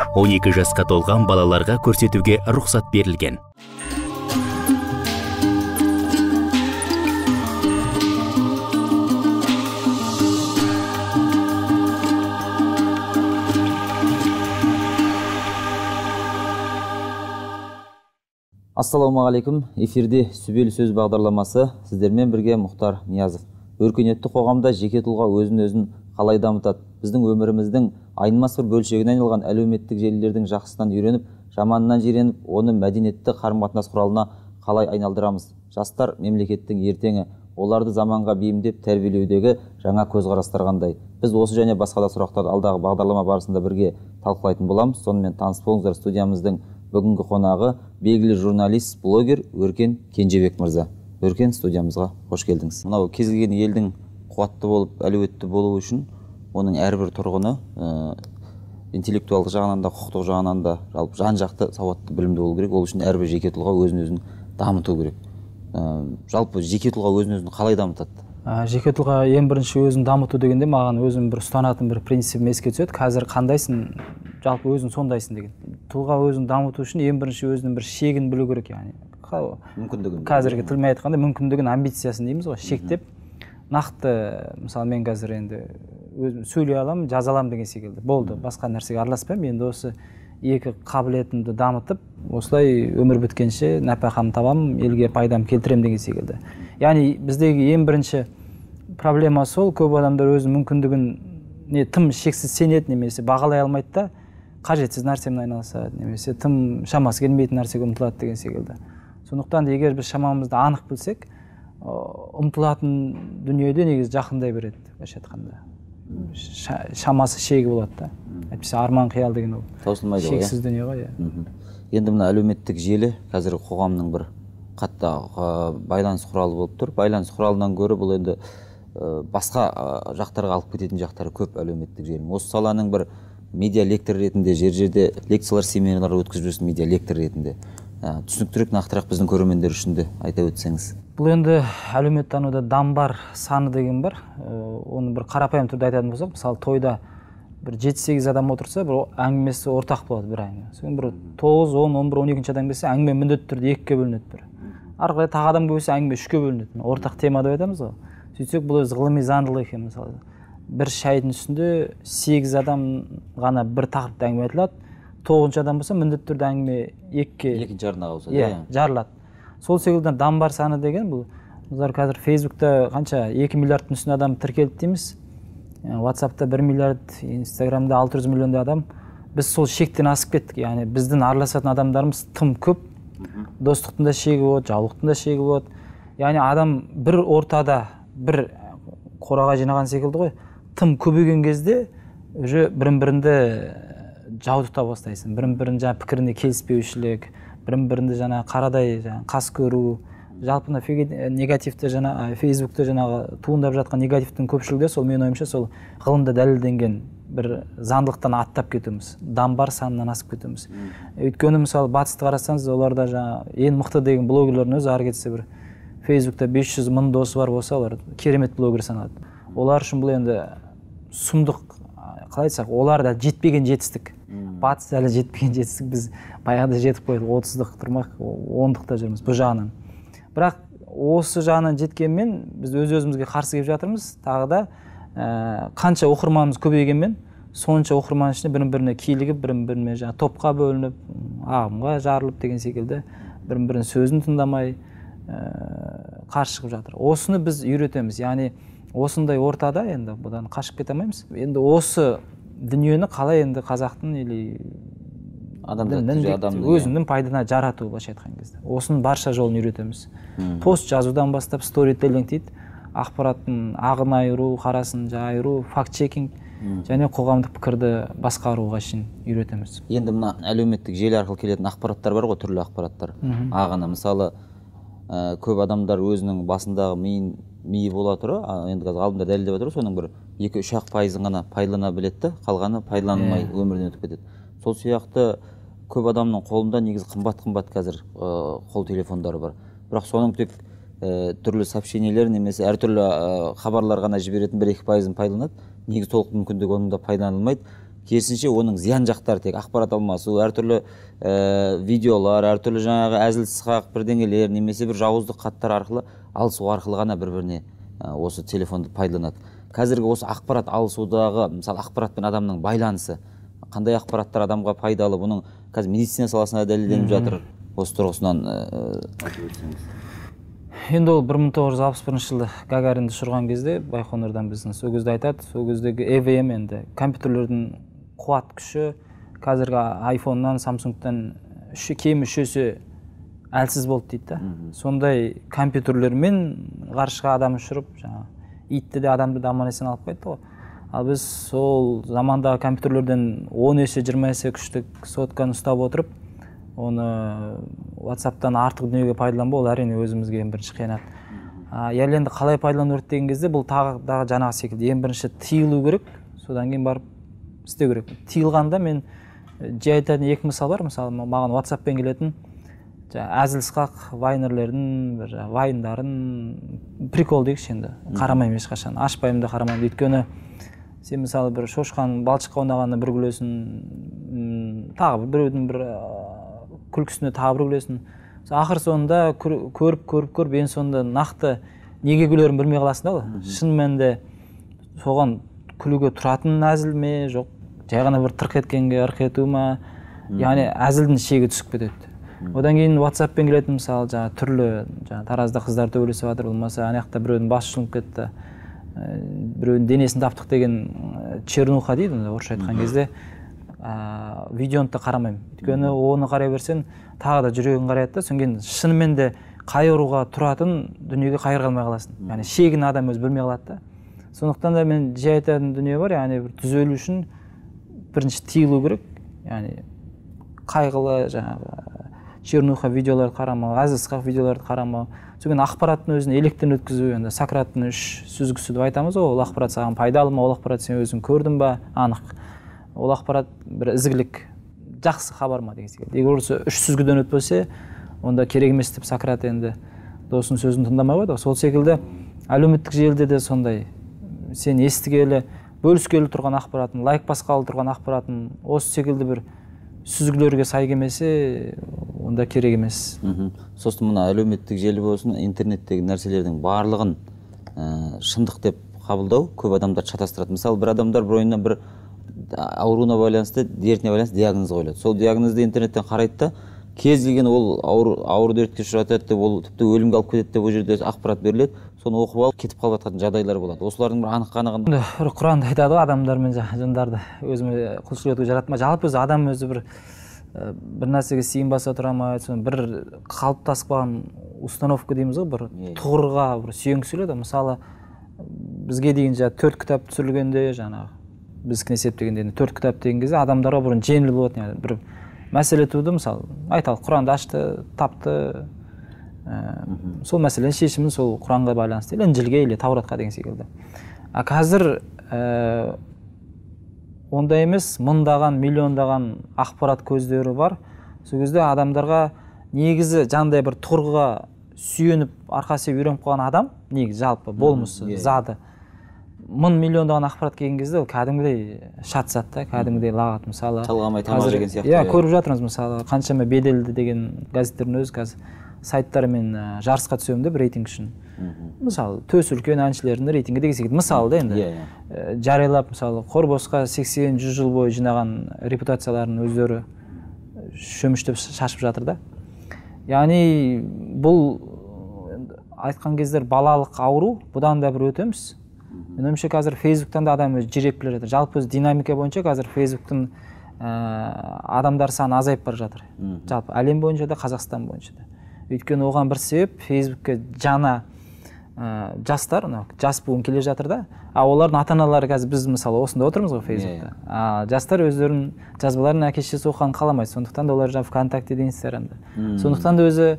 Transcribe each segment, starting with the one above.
12 жасқа толған балаларға көрсетуге рұқсат берілген. Ассалаумағалейкум, эфирде Сүбелі сөз бағдарламасы, сіздермен бірге Мұхтар Ниязов. Өркениетті қоғамда жеке тұлға өзін-өзін қалай дамытады? Біздің өміріміздің айнымас бір бөлшегіне айналған әлеуметтік желілердің жақсысынан үйреніп, жаманынан жиреніп, оны мәдениетті қарым-қатынас құралына қалай айналдырамыз? Жастар мемлекеттің ертеңі, оларды заманға бейімдеп тәрбиелеудегі жаңа көзқарастар қандай? Біз осы және басқа да сұрақтар алдағы бағдарлама барысында бірге талқылайтын боламыз. Сонымен таныс болыңыздар, студиямыздың бүгінгі қонағы белгілі журналист, блогер Өркен Кенжебек мырза. Өркен, студиямызға қош келдіңіз. Мынау кез келген елдің қуатты болып, әлеуетті болуы үшін оның әрбір тұрғыны интеллектуалдық жағынан да, құқықтық жағынан да, жалпы жан-жақты сауатты білімді болу керек. Ол үшін әрбір жеке тұлға өзін-өзін дамыту керек. Жалпы жеке тұлға өзін-өзін қалай дамытады? Жеке тұлға ең бірінші өзін дамыту дегенде маған өзім бір ұстанатын бір принципім еске түседі. Қазір қандайсың, жалпы өзің сондайсың деген. Тұлға өзін дамыту үшін ең бірінші өзінің бір шегін білу керек, яғни мүмкіндігін. Қазіргі тілмен айтқанда мүмкіндігін, амбициясын дейміз ғой, шектеп нақты, мысалы мен қазір енді өзім сөйлей аламын, жаза аламын деген секілді. Болды, басқа нәрсеге араласпаймын. Енді осы екі қабілетімді дамытып, осылай өмір біткенше нәпақамды табамын, елге пайдам келтіремін деген секілді. Яғни біздегі ең бірінші проблема сол, көп адамдар өзінің мүмкіндігін тым шексіз сенеді, немесе бағалай алмайды да, қажетсіз нәрсемен айналысады, немесе тым шамасы келмейтін нәрсеге ұмтылады деген секілді. Сондықтан егер біз шамамызды анық білсек, ұмтылатын дүниеде негізі жақындай береді, былайша айтқанда. Шамасы шегі болады да. Әйтпесе арман қиял деген ол таусылмайды ғой, шексіз дүние ғой. Енді мына әлеуметтік желі қазіргі қоғамның бір қатты байланыс құралы болып тұр. Байланыс құралынан гөрі бұл енді басқа жақтарға алып кететін жақтары көп әлеуметтік желінің. Осы саланың бір медиа лектор ретінде, жер-жерде лекциялар, семинарлар өткізіп жүрсің медиа лектор ретінде. Түсініктірек, нақтырақ біздің көрермендер үшін де айта өтсеңіз. Бұл енді әлеуметтануда дамбар саны деген бар. Оны бір қарапайым түрде айтатын болсақ, мысалы тойда бір 7-8 адам отырса, бір әңгімесі ортақ болады бір әңгіме. Содан бір 9, 10, 11, 12 адам келсе, әңгіме міндетті түрде 2-ге бөлінеді бір. Ары қарай тағы адам келсе, әңгіме 3-ге бөлінеді. Ортақ тема деп айтамыз ғой. Сөйтсек, бұл өзі ғылыми заңдылық екен, мысалы. Бір шайдың үстінде 8 адам ғана бір тақырыпта әңгіме айтылады. 9-шы адам болса, міндетті түрде әңгіме 2-ге екінші арнаға ауысады. Жарылады. Сол секілді дамбар саны деген бұл. Бұлар қазір Фейсбукта қанша 2 миллиардтың үстіне адам тіркелді дейміз. WhatsApp'та 1 миллиард, Instagram'да 600 миллиондай адам. Біз сол шектен асып кеттік. Яғни біздің араласатын адамдарымыз тым көп. Достықтың да шегі болады, жаулықтың да шегі болады. Яғни адам бір ортада, бір қораға жинаған секілді ғой. Тым көбейген кезде уже бірін-бірінді жаудыта бастайсың. Бірін-бірін жаңа пікіріне келіспеушілік, бірін-бірінді жаңа қарадай қас көру. Жалпы негативті жаңа Фейсбукта жаңағы туындап жатқан негативтің көпшілігі сол мен ойымша сол ғылымда дәлелденген бір заңдылықтан аттап кетуіміз, дамбар санынан асып кетуіміз. Өйткені мысалы батысты қарасаңыз, оларда жаңа ең мықты деген блогерлердің өзі ары кетсе бір Фейсбукта 500 мың досы бар болса, олар керемет блогер саналады. Олар үшін бұл енді сұмдық, қалай айтсақ, олар да жетпеген жетістік. Батыс әлі жетпеген жетістік, біз баяғыда жетіп қойдық, 30-дық тұрмақ, 10-дықта жүрміз бұл жағынан. Бірақ осы жағынан жеткенмен біз өз-өзімізге қарсы келіп жатырмыз. Тағы да қанша оқырманымыз көбейгенмен, сонша оқырман ішіне бірін-біріне килігіп, бірін-біріне топқа бөлініп, ағымға жарылып деген секілді, бірін-бірінің сөзін тыңдамай қарсы шығып жатыр. Осыны біз үйретеміз. Яғни осындай ортада енді бұдан қашып кете алмаймыз. Енді осы дүниені қалай енді қазақтың или өзінің пайдана жарату, былайша айтқан кезде. Осының барша жолын үйретеміз. Пост жазудан бастап сторителлинг дейді, ақпараттың ағын айыру, қарасын айыру, факт-чекинг және қоғамдық пікірді басқаруға шейін үйретеміз. Енді мына әлеуметтік желі арқылы келетін ақпараттар бар ғой, түрлі ақпараттар. Ағыны, мысалы, көп адамдар өзінің басындағы миы бола тұры, енді қазір ғалымдар дәлелдеп жатыр, соның бір 2-3% ғана пайдалана біледі, қалғаны пайдаланылмай өмірден өтіп кетеді. Сол сияқты көп адамның қолында негізі қымбат қазір қол телефондары бар. Бірақ соның тек түрлі сообщениелер немесе әртүрлі хабарлар ғана жіберетін 1-2% пайдаланады. Негізі толық мүмкіндігі оның да пайдаланылмайды. керісінше оның зиян жақтары тек ақпарат алмасу, әртүрлі видеолар, әртүрлі жаңағы әзіл сықақ бірдеңелер немесе бір жауыздық хаттар арқылы алысу арқылы ғана бір-біріне осы телефонды пайдаланады. Қазіргі осы ақпарат алысудағы, мысалы ақпаратпен адамның байланысы, қандай ақпараттар адамға пайдалы, бұның қазір медицина саласына дәлелденіп жатыр. Осы тұрғысынан айтып өтсеңіз. Енді ол 1961 жылы Гагаринді ұшырған кезде Байқоңырдан біздің сол кезде айтады, сол кездегі EVM енді компьютерлердің қуат күші қазіргі iPhone-нан, Samsung-тан кемі 3 есе әлсіз болды дейді да. Сондай компьютерлермен ғарышқа адам ұшырып, итті де адамды да аман-есен алып қайтты ғой. Ал біз сол замандағы компьютерлерден 10 есе 20 есе күштік сотканы ұстап отырып, оны WhatsApp-тан артық дүниеге пайдаланбау, ол әрине өзімізге ең бірінші қиянат. Енді қалай пайдалану керек деген кезде бұл тағы жаңағы секілді ең бірінші тыйылу керек, содан кейін барып істеу керек. Тыйылғанда мен жай айтатын екі мысал бар. Мысалы, маған WhatsApp-пен келетін әзіл сықақ вайнерлердің, вайндарын, прикол дейікші енді, қарамаймын ешқашан, ашпаймын да қарамаймын. Өйткені сен мысалы бір шошқан балшыққа ойнағанда бір күлесің, тағы біреудің бір күлкісіне тағы бір күлесің. Ақыр соңында көріп, ең соңында нақты неге күлерін білмей қаласың да ғой. Шын мәнінде соған күлуге тұратын әзіл ме, жоқ, жай ғана бір тырқ еткенге ырқ ету ма, яғни әзілдің шегі түсіп кетеді. Одан кейін WhatsApp-пен келетін мысалы түрлі таразда қыздар төбелесіп жатыр, болмаса аяқта біреудің басы жұлынып кетті, біреудің денесін таптық деген чернуха дейді, орысша айтқан кезде видеоны да қарамаймын. Өйткені оны қарай берсең тағы да жүрегің қарайды да, содан кейін шынымен де қайыруға тұратын дүниеге қайыр қалмай қаласың. Яғни шегін адам өзі білмей қалады да. Сондықтан да мен жай айтатын дүние бар, яғни бір түзелу үшін бірінші тыйылу керек, яғни қайғылы жаңағы чернуха видеоларды қарамау, әзіл сықақ видеоларды қарамау. Содан ақпараттың өзін електен өткізу, енді Сократтың 3 сүзгісі деп айтамыз ғой, ол ақпарат саған пайдалы ма, ол ақпарат сен өзің көрдің ба, анық. Ол ақпарат бір ізгілік, жақсы хабар ма деген секілді. Егер осы 3 сүзгіден өтпесе, онда керек емес деп Сократ енді досының сөзін тыңдамай қойды. Сол секілді әлеуметтік желіде де сондай, сен естігелі, бөліскелі тұрған ақпаратын, лайк басқалы тұрған ақпаратын осы секілді бір сүзгілерге сай келмесе, онда керек емес. Сосын мына әлеуметтік желі болсын, интернеттегі нәрселердің барлығын шындық деп қабылдау көп адамдар шатастырады. Мысалы, бір адамдар бір ойынан бір ауруына байланысты, дертіне байланысты диагноз қойылады. Сол диагнозды интернеттен қарайды да, кез келген ол ауыр дертке ұшыратады деп, ол тіпті өлімге алып кетеді деп, ол жерде ақпарат беріледі. Соны оқып алып кетіп қалып жатқан жағдайлар болады. Осылардың бір анық-қанығын. Құранда айтады ғой, адамдар мен жындарды өзіме құлшылық етуге жаратма. Жалпы өзі адам өзі бір нәрсеге сиынбаса тұра ма, бір қалыптасып қалған установка дейміз ғой, бір тұғырға бір сүйенгісі келеді. Мысалы, бізге дейін 4 кітап түсірілгенде, жаңағы біздікін есептегенде 4 кітап деген кезде адамдарға бұрын жеңіл болатын, бір мәселе туды, мысалы, айталық, Құранды ашты, тапты, сол мәселенің шешімін сол Құранға байланысты, Інжілге или Тауратқа деген секілді. Қазір ондай емес, мыңдаған, миллиондаған ақпарат көздері бар. Сол кезде адамдарға негізі жандай бір тұрғыға сүйеніп, арқасы үйреніп қалған адам, негізі жалпы болмысы, зады. Миллиондаған ақпарат келген кезде ол кәдімгідей шатысады да, кәдімгідей лағат. Мысалы, талғамай тамақ деген сияқты. Көріп жатырмыз, мысалы, қаншама беделді деген газеттердің өзі қазір сайттармен жарысқа түсемін деп рейтинг үшін. Мысалы, төс үлкен әншілердің рейтингі деген секілді. Мысалы да енді жариялап, мысалы, Қорбосқа 80-100 жыл бойы жинаған репутацияларын өздері шөміштеп шашып жатыр да. Яғни бұл айтқан кездер балалық ауру, бұдан да бір өтеміз. Мен ойымша қазір Фейсбуктан да адам өзі жиреп келе жатыр. Жалпы динамика бойынша қазір Фейсбуктың адамдар саны азайып бара жатыр. Жалпы әлем бойынша да, Қазақстан бойынша да. Өйткені оған бір себеп, Фейсбукке жаңа жастар, жас буын келе жатыр да. Олардың ата-аналары қазір біз мысалы осында отырмыз ғой Фейсбукта. Жастар өздерінің жазбаларын әке-шешесі оқығанын қаламайды. Сондықтан да олар ВКонтакте, Инстаграмда. Сондықтан да өзі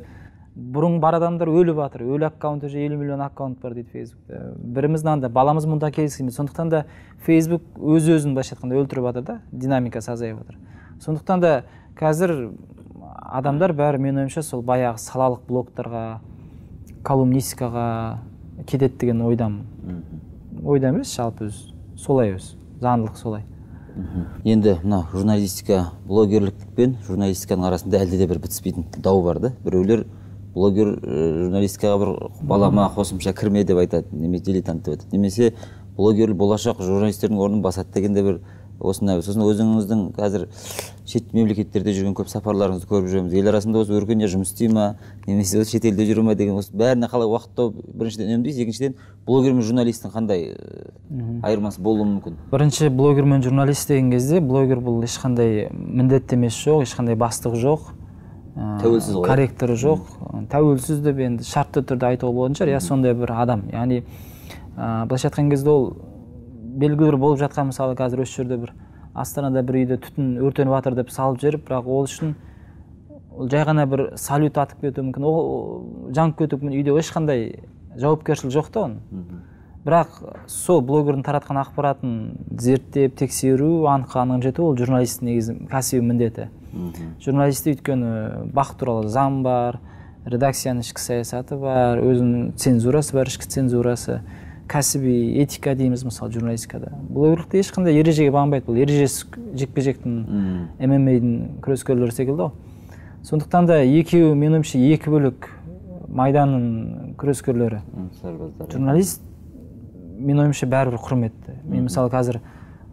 бұрын бар адамдар өліп жатыр. Өлі аккаунт уже 50 миллион аккаунт бар дейді Фейсбукта. Біріміздің баламыз мұнда келіскенде. Сондықтан да Фейсбук өз-өзін былайша айтқанда өлтіріп жатыр да, динамикасы азайып жатыр. Сондықтан да қазір адамдар бәрі мен ойымша сол баяғы салалық блогтарға, колумнистикаға кетеді деген ойдамын. Ойда емес, жалпы солай өз. Заңдылық солай. Енді мына журналистика, блогерлік пен журналистиканың арасында әлде де бір бітіспейтін дау бар да. Біреулер блогер журналистикаға бір балама қосымша кірме деп айтады, немесе дилетант деп айтады, немесе блогер болашақ журналистердің орнын басады деген де бір осындай. Сосын өзіңіздің қазір шет мемлекеттерде жүрген көп сапарларыңызды көріп жүреміз. Ел арасында осы өркениет жұмыс істей ма, немесе осы шетелде жүре ма деген, осы бәріне қалай уақыт тауып, біріншіден үнемдейсіз, екіншіден блогер мен журналисттің қандай айырмасы болуы мүмкін? Бірінші, блогер мен журналист деген кезде, блогер бұл ешқандай міндеттемесі жоқ, ешқандай бастығы жоқ, тәуелсіз ғой, корректоры жоқ. Тәуелсіз деп енді шартты түрде айтуға болатын шығар, иә, сондай бір адам. Яғни былайша айтқан кезде ол белгілі болып жатқан, мысалы қазір осы жерде бір Астанада бір үйде түтін өртеніп жатыр деп салып жіберіп, бірақ ол үшін жай ғана бір салют атып кетуі мүмкін, ол жанып кетуі мүмкін, үйде ешқандай жауапкершілік жоқ та оның. Бірақ сол блогердің таратқан ақпаратын зерттеп, тексеру, анық жету, ол журналисттің негізі кәсіби міндеті. Журналисті өйткені бақ туралы заң бар, редакцияның ішкі саясаты бар, өзінің цензурасы бар, ішкі цензурасы, кәсіби этика дейміз мысалы журналистикада. Блогерлікте ешқандай ережеге бағынбайды, бұл ережесі жекпе-жектің, ММА-дің күрескерлері секілді ғой. Сондықтан да екеуі, менің ойымша, екі бөлек майданның күрескерлері. Журналист, менің ойымша, бәрібір құрметті. Мен мысалы қазір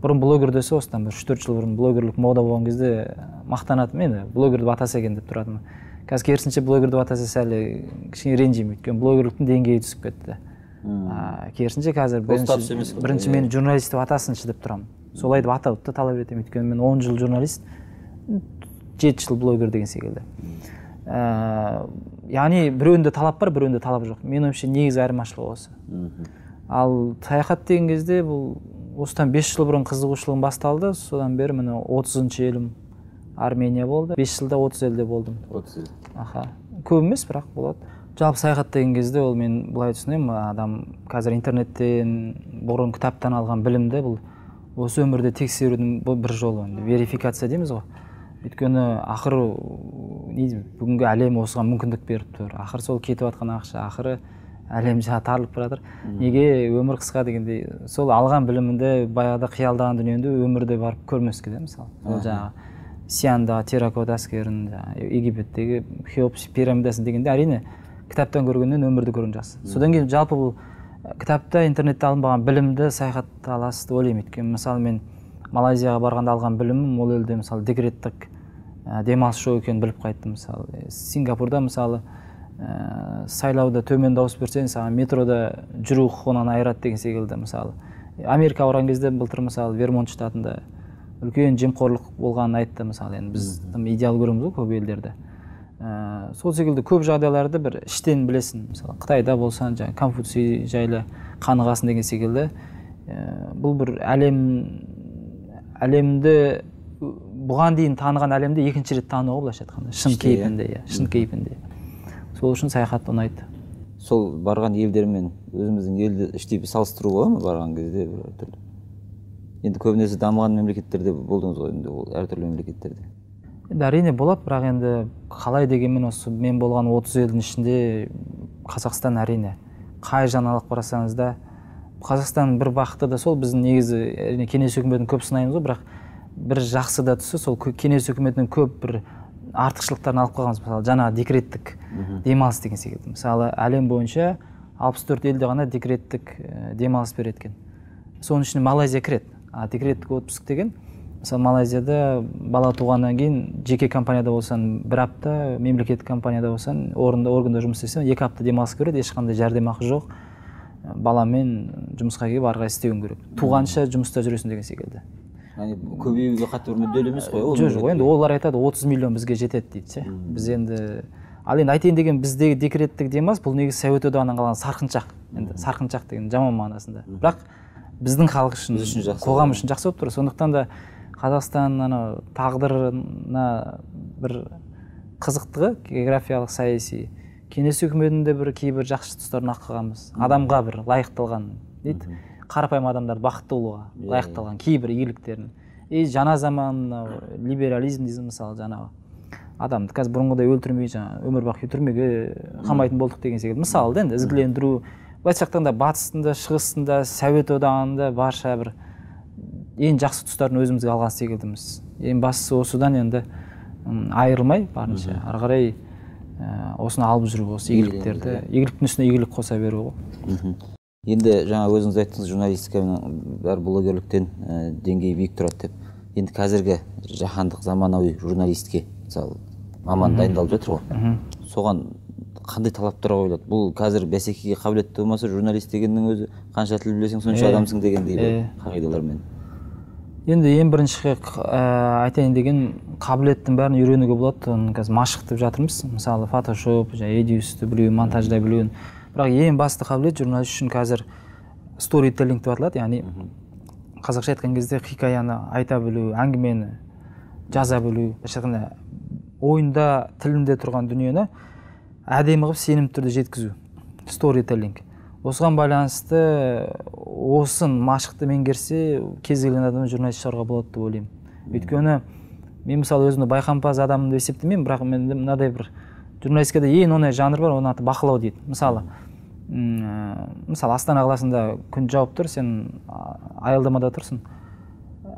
бұрын блогер десе, осыдан бір 3-4 жыл бұрын блогерлік мода болған кезде мақтанатым, енді блогерді батаса екен деп тұратым. Қазір керісінше блогерді батаса сәл кішкене ренжимін, өйткені блогерліктің деңгейі түсіп кетті. Керісінше қазір бірінші мені журналист деп атасыншы деп тұрамын. Солай деп атауды талап етемін, өйткені мен 10 жыл журналист, 7 жыл блогер деген секілді. Яғни біреуінде талап бар, біреуінде талап жоқ. Менің ойымша негізгі айырмашылығы осы. Ал саяхат деген кезде бұл осыдан 5 жыл бұрын қызығушылығым басталды, содан бері міне 30-шы елім Армения болды. 5 жылда 30 елде болдым. 30 ел. Аха. Көп емес, бірақ болады. Жалпы саяхат деген кезде ол мен былай түсінемін, адам қазір интернеттен, бұрын кітаптан алған білімді бұл осы өмірде тексерудің бір жолы, верификация дейміз ғой. Өйткені ақыры бүгінгі әлем осыған мүмкіндік беріп тұр. Ақыры сол кетіп жатқан ақша, ақыры әлем тарылып баратыр. Неге өмір қысқа дегендей, сол алған білімінде баяғыда қиялдаған дүниеңді өмірде барып көрмеске де, мысалы. Ол жаңағы Сиандағы терракот әскерін, Египеттегі Хеопс пирамидасын дегенде әрине кітаптан көргеннен өмірді көрген жақсы. Содан кейін жалпы бұл кітапта, интернетте алынбаған білімді саяхатта аласыз деп ойлаймын. Өйткені мысалы мен Малайзияға барғанда алған білімім ол елде мысалы декреттік демалыс жоқ екенін біліп қайттым. Мысалы Сингапурда мысалы сайлауда төмен дауыс берсең, саған метрода жүру құқығынан айырады деген секілді. Мысалы Америкаға барған кезде былтыр мысалы Вермонт штатында үлкен жемқорлық болғанын айтты. Мысалы енді біз идеал көреміз ғой көп елдерде. Сол секілді көп жағдайларды бір іштен білесің. Мысалы Қытайда болсан, жаңа Конфуций жайлы қанығасың деген секілді. Бұл бір әлемді бұған дейін таныған әлемді екінші рет тануға былайша айтқанда, шын кейпінде, шын кейпінде. Сол үшін саяхат ұнайды. Сол барған елдермен өзіміздің елді іштей салыстыру болады ма барған кезде бір түрлі? Енді көбінесе дамыған мемлекеттерде болдыңыз ғой, енді ол әртүрлі мемлекеттерде. Енді әрине болады, бірақ енді қалай дегенмен осы мен болған 30 елдің ішінде Қазақстан әрине. Қай жаңалық барасаңыз да, Қазақстан бір бақыты да сол, біздің негізі әрине кеңес үкіметін көп сынаймыз ғой, бірақ бір жақсы да түсі сол кеңес үкіметінің көп бір артықшылықтарын алып қалғанбыз. Мысалы жаңа декреттік демалыс деген секілді. Мысалы әлем бойынша 64 елде ғана декреттік демалыс береді екен. Соның ішіне Малайзия кіреді. Декреттік отпуск деген, мысалы Малайзияда бала туғаннан кейін жеке компанияда болсан 1 апта, мемлекеттік компанияда болсан органда жұмыс істесең 2 апта демалыс көреді, ешқандай жәрдемақы жоқ. Баламен жұмысқа келіп ары қарай істеуің керек. Туғанша жұмыста жүресің деген секілді. Яғни көбеюге қатты бір мүдделі емес қой. Жоқ, енді олар айтады 30 миллион бізге жетеді дейді. Біз енді ал енді айтайын деген біздегі декреттік демалыс бұл негізі Совет одағынан қалған сарқыншақ. Енді сарқыншақ деген жаман мағынасында. Бірақ біздің халық үшін, қоғам үшін жақсы болып тұр. Сондықтан да Қазақстан тағдырына бір қызықтығы, географиялық, саяси, кеңес үкіметінде бір кейбір жақсы тұстарын ақылғанбыз. Адамға бір лайықталған дейді. Қарапайым адамдар бақытты болуға лайықталған кейбір игіліктерін. Жаңа заман либерализм дейміз, мысалы жаңағы адамды қазір бұрынғыдай өлтірмей, жаңа өмір бақи түрмеге қамайтын болдық деген секілді. Мысалы енді ізгілендіру, былайша айтқанда батысында, шығысында, Совет одағында барша бір ең жақсы тұстарын өзімізге алған секілдіміз. Ең бастысы осыдан енді айырылмай барынша ары қарай осыны алып жүру, осы игіліктерді, игіліктің үстіне игілік қоса беру ғой. Енді жаңа өзіңіз айттыңыз, журналистиканың бәрі блогерліктен деңгейі биік тұрады деп. Енді қазіргі жаһандық заманауи журналистке мысалы маман дайындалып жатыр ғой. Соған қандай талаптар қойылады? Бұл қазір бәсекеге қабілетті болмаса, журналист дегеннің өзі қанша тіл білесең сонша адамсың дегендей қағидалармен. Енді ең бірінші айтайын деген қабілеттің бәрін үйренуге болады. Оны қазір машықтап жатырмыз. Мысалы Photoshop, Edius'ты білу, монтаждай білу. Бірақ ең басты қабілет журналист үшін қазір storytelling деп аталады. Яғни қазақша айтқан кезде хикаяны айта білу, әңгімені жаза білу, ойында, тілінде тұрған дүниені әдемі қылып сенімді түрде жеткізу. Storytelling. Осыған байланысты осын машықты меңгерсе, кез келген адам журналист шығаруға болады деп ойлаймын. Өйткені мен мысалы өзімді байқампаз адамды есептемеймін, бірақ мен мынадай бір журналистикада ең оңай жанр бар, оның аты бақылау дейді. Мысалы Астана қаласында күн жауып тұр, сен аялдамада тұрсың.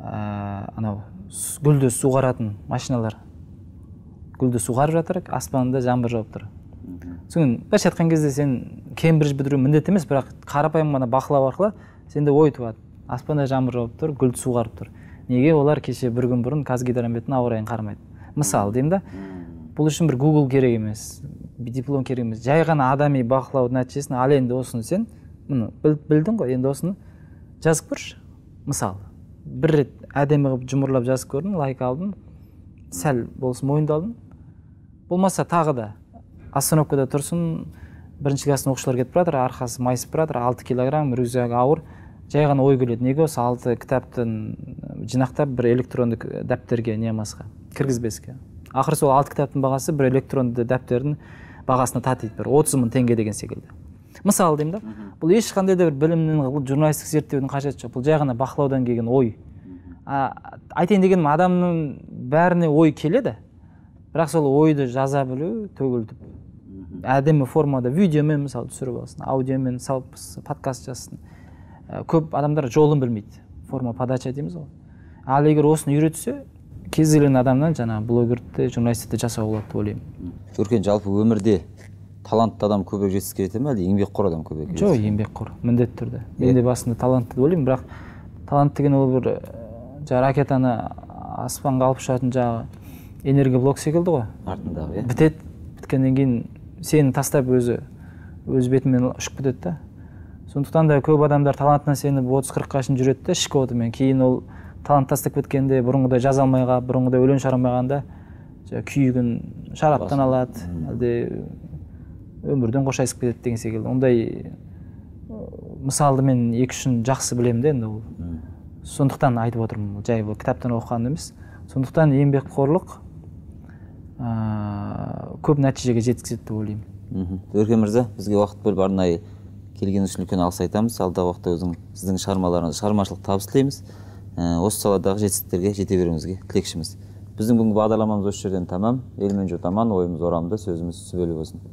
Анау гүлді суғаратын машиналар гүлді суғарып жатыр, аспанда жаңбыр жауып тұр. Соң былайша айтқан кезде сен Кембридж бітіру міндет емес, бірақ қарапайым ғана бақылау арқылы сенде ой туады. Аспанда жаңбыр жауып тұр, гүлді суғарып тұр. Неге олар кеше бір күн бұрын Қазгидрометтің ауа райын қарамайды? Мысалы деймін да, бұл үшін бір Google керек емес, диплом керек емес. Жай ғана адами бақылау нәтижесін ал енді осыны сен білдің ғой, енді осыны жазып көрші. Мысалы, бір рет әдемі қылып жұмырлап жазып көрдің, лайк алдың, сәл болсын мойындалдың. Болмаса тағы да остановкада тұрсын, бірінші класстың оқушылар кетіп жатыр, арқасы майысып жатыр, 6 килограмм, рюкзагы ауыр, жай ғана ой келеді. Неге осы 6 кітаптың жинақтап бір электронды дәптерге немасқа кіргізбеске. Ақыры сол 6 кітаптың бағасы бір электронды дәптердің бағасына татиды, бір 30 000 теңге деген секілді. Мысалы деймін да, бұл ешқандай да бір білімнің, журналистік зерттеудің қажеті жоқ. Бұл жай ғана бақылаудан келген ой. Айтайын дегенім, адамның бәріне ой келеді, бірақ сол ойды жаза білу, төгілтіп, әдемі формада видеомен мысалы түсіріп алсын, аудиомен салып подкаст жазсын. Көп адамдар жолын білмейді, форма подача дейміз ғой. Ал егер осыны үйретсе, кез келген адамнан жаңа блогерді, журналистті жасауға болады деп ойлаймын. Өркен, жалпы өмірде талантты адам көбірек жетістікке жете ме, әлде еңбекқор адам көбірек? Жоқ, еңбекқор, міндетті түрде. Мен де басында талантты деп ойлаймын, бірақ талант деген ол бір ракетаны аспанға алып ұшатын жағы энергоблок секілді ғой. Артындағы, бітеді, біткеннен кейін сені тастап өз бетімен ұшып кетеді да. Сондықтан да көп адамдар талантынан сеніп 30-40-қа шейін жүреді де, ішкі отымен. Кейін ол талант тастап кеткенде бұрынғыдай жаза алмай қалып, бұрынғыдай өлең шығара алмағанда күйігін шараптан алады, әлде өмірден қоштасып кетеді деген секілді. Ондай мысалды мен 2-3 жақсы білемін де енді ол. Сондықтан айтып отырмын, жай бұл кітаптан оқыған емес. Сондықтан еңбекқорлық көп нәтижеге жеткізеді деп ойлаймын. Өркен мырза, бізге уақыт бөліп арнайы келгеніңіз үшін үлкен алғыс айтамыз. Алдағы уақытта сіздің шығармаларыңыз, шығармашылық табыс тілейміз. Осы саладағы жетістіктерге жете беруіңізге тілекшіміз. Біздің бүгінгі бағдарламамыз осы жерден тамам. Елмен жұрт аман, ойымыз орамды, сөзіміз сүбелі болсын.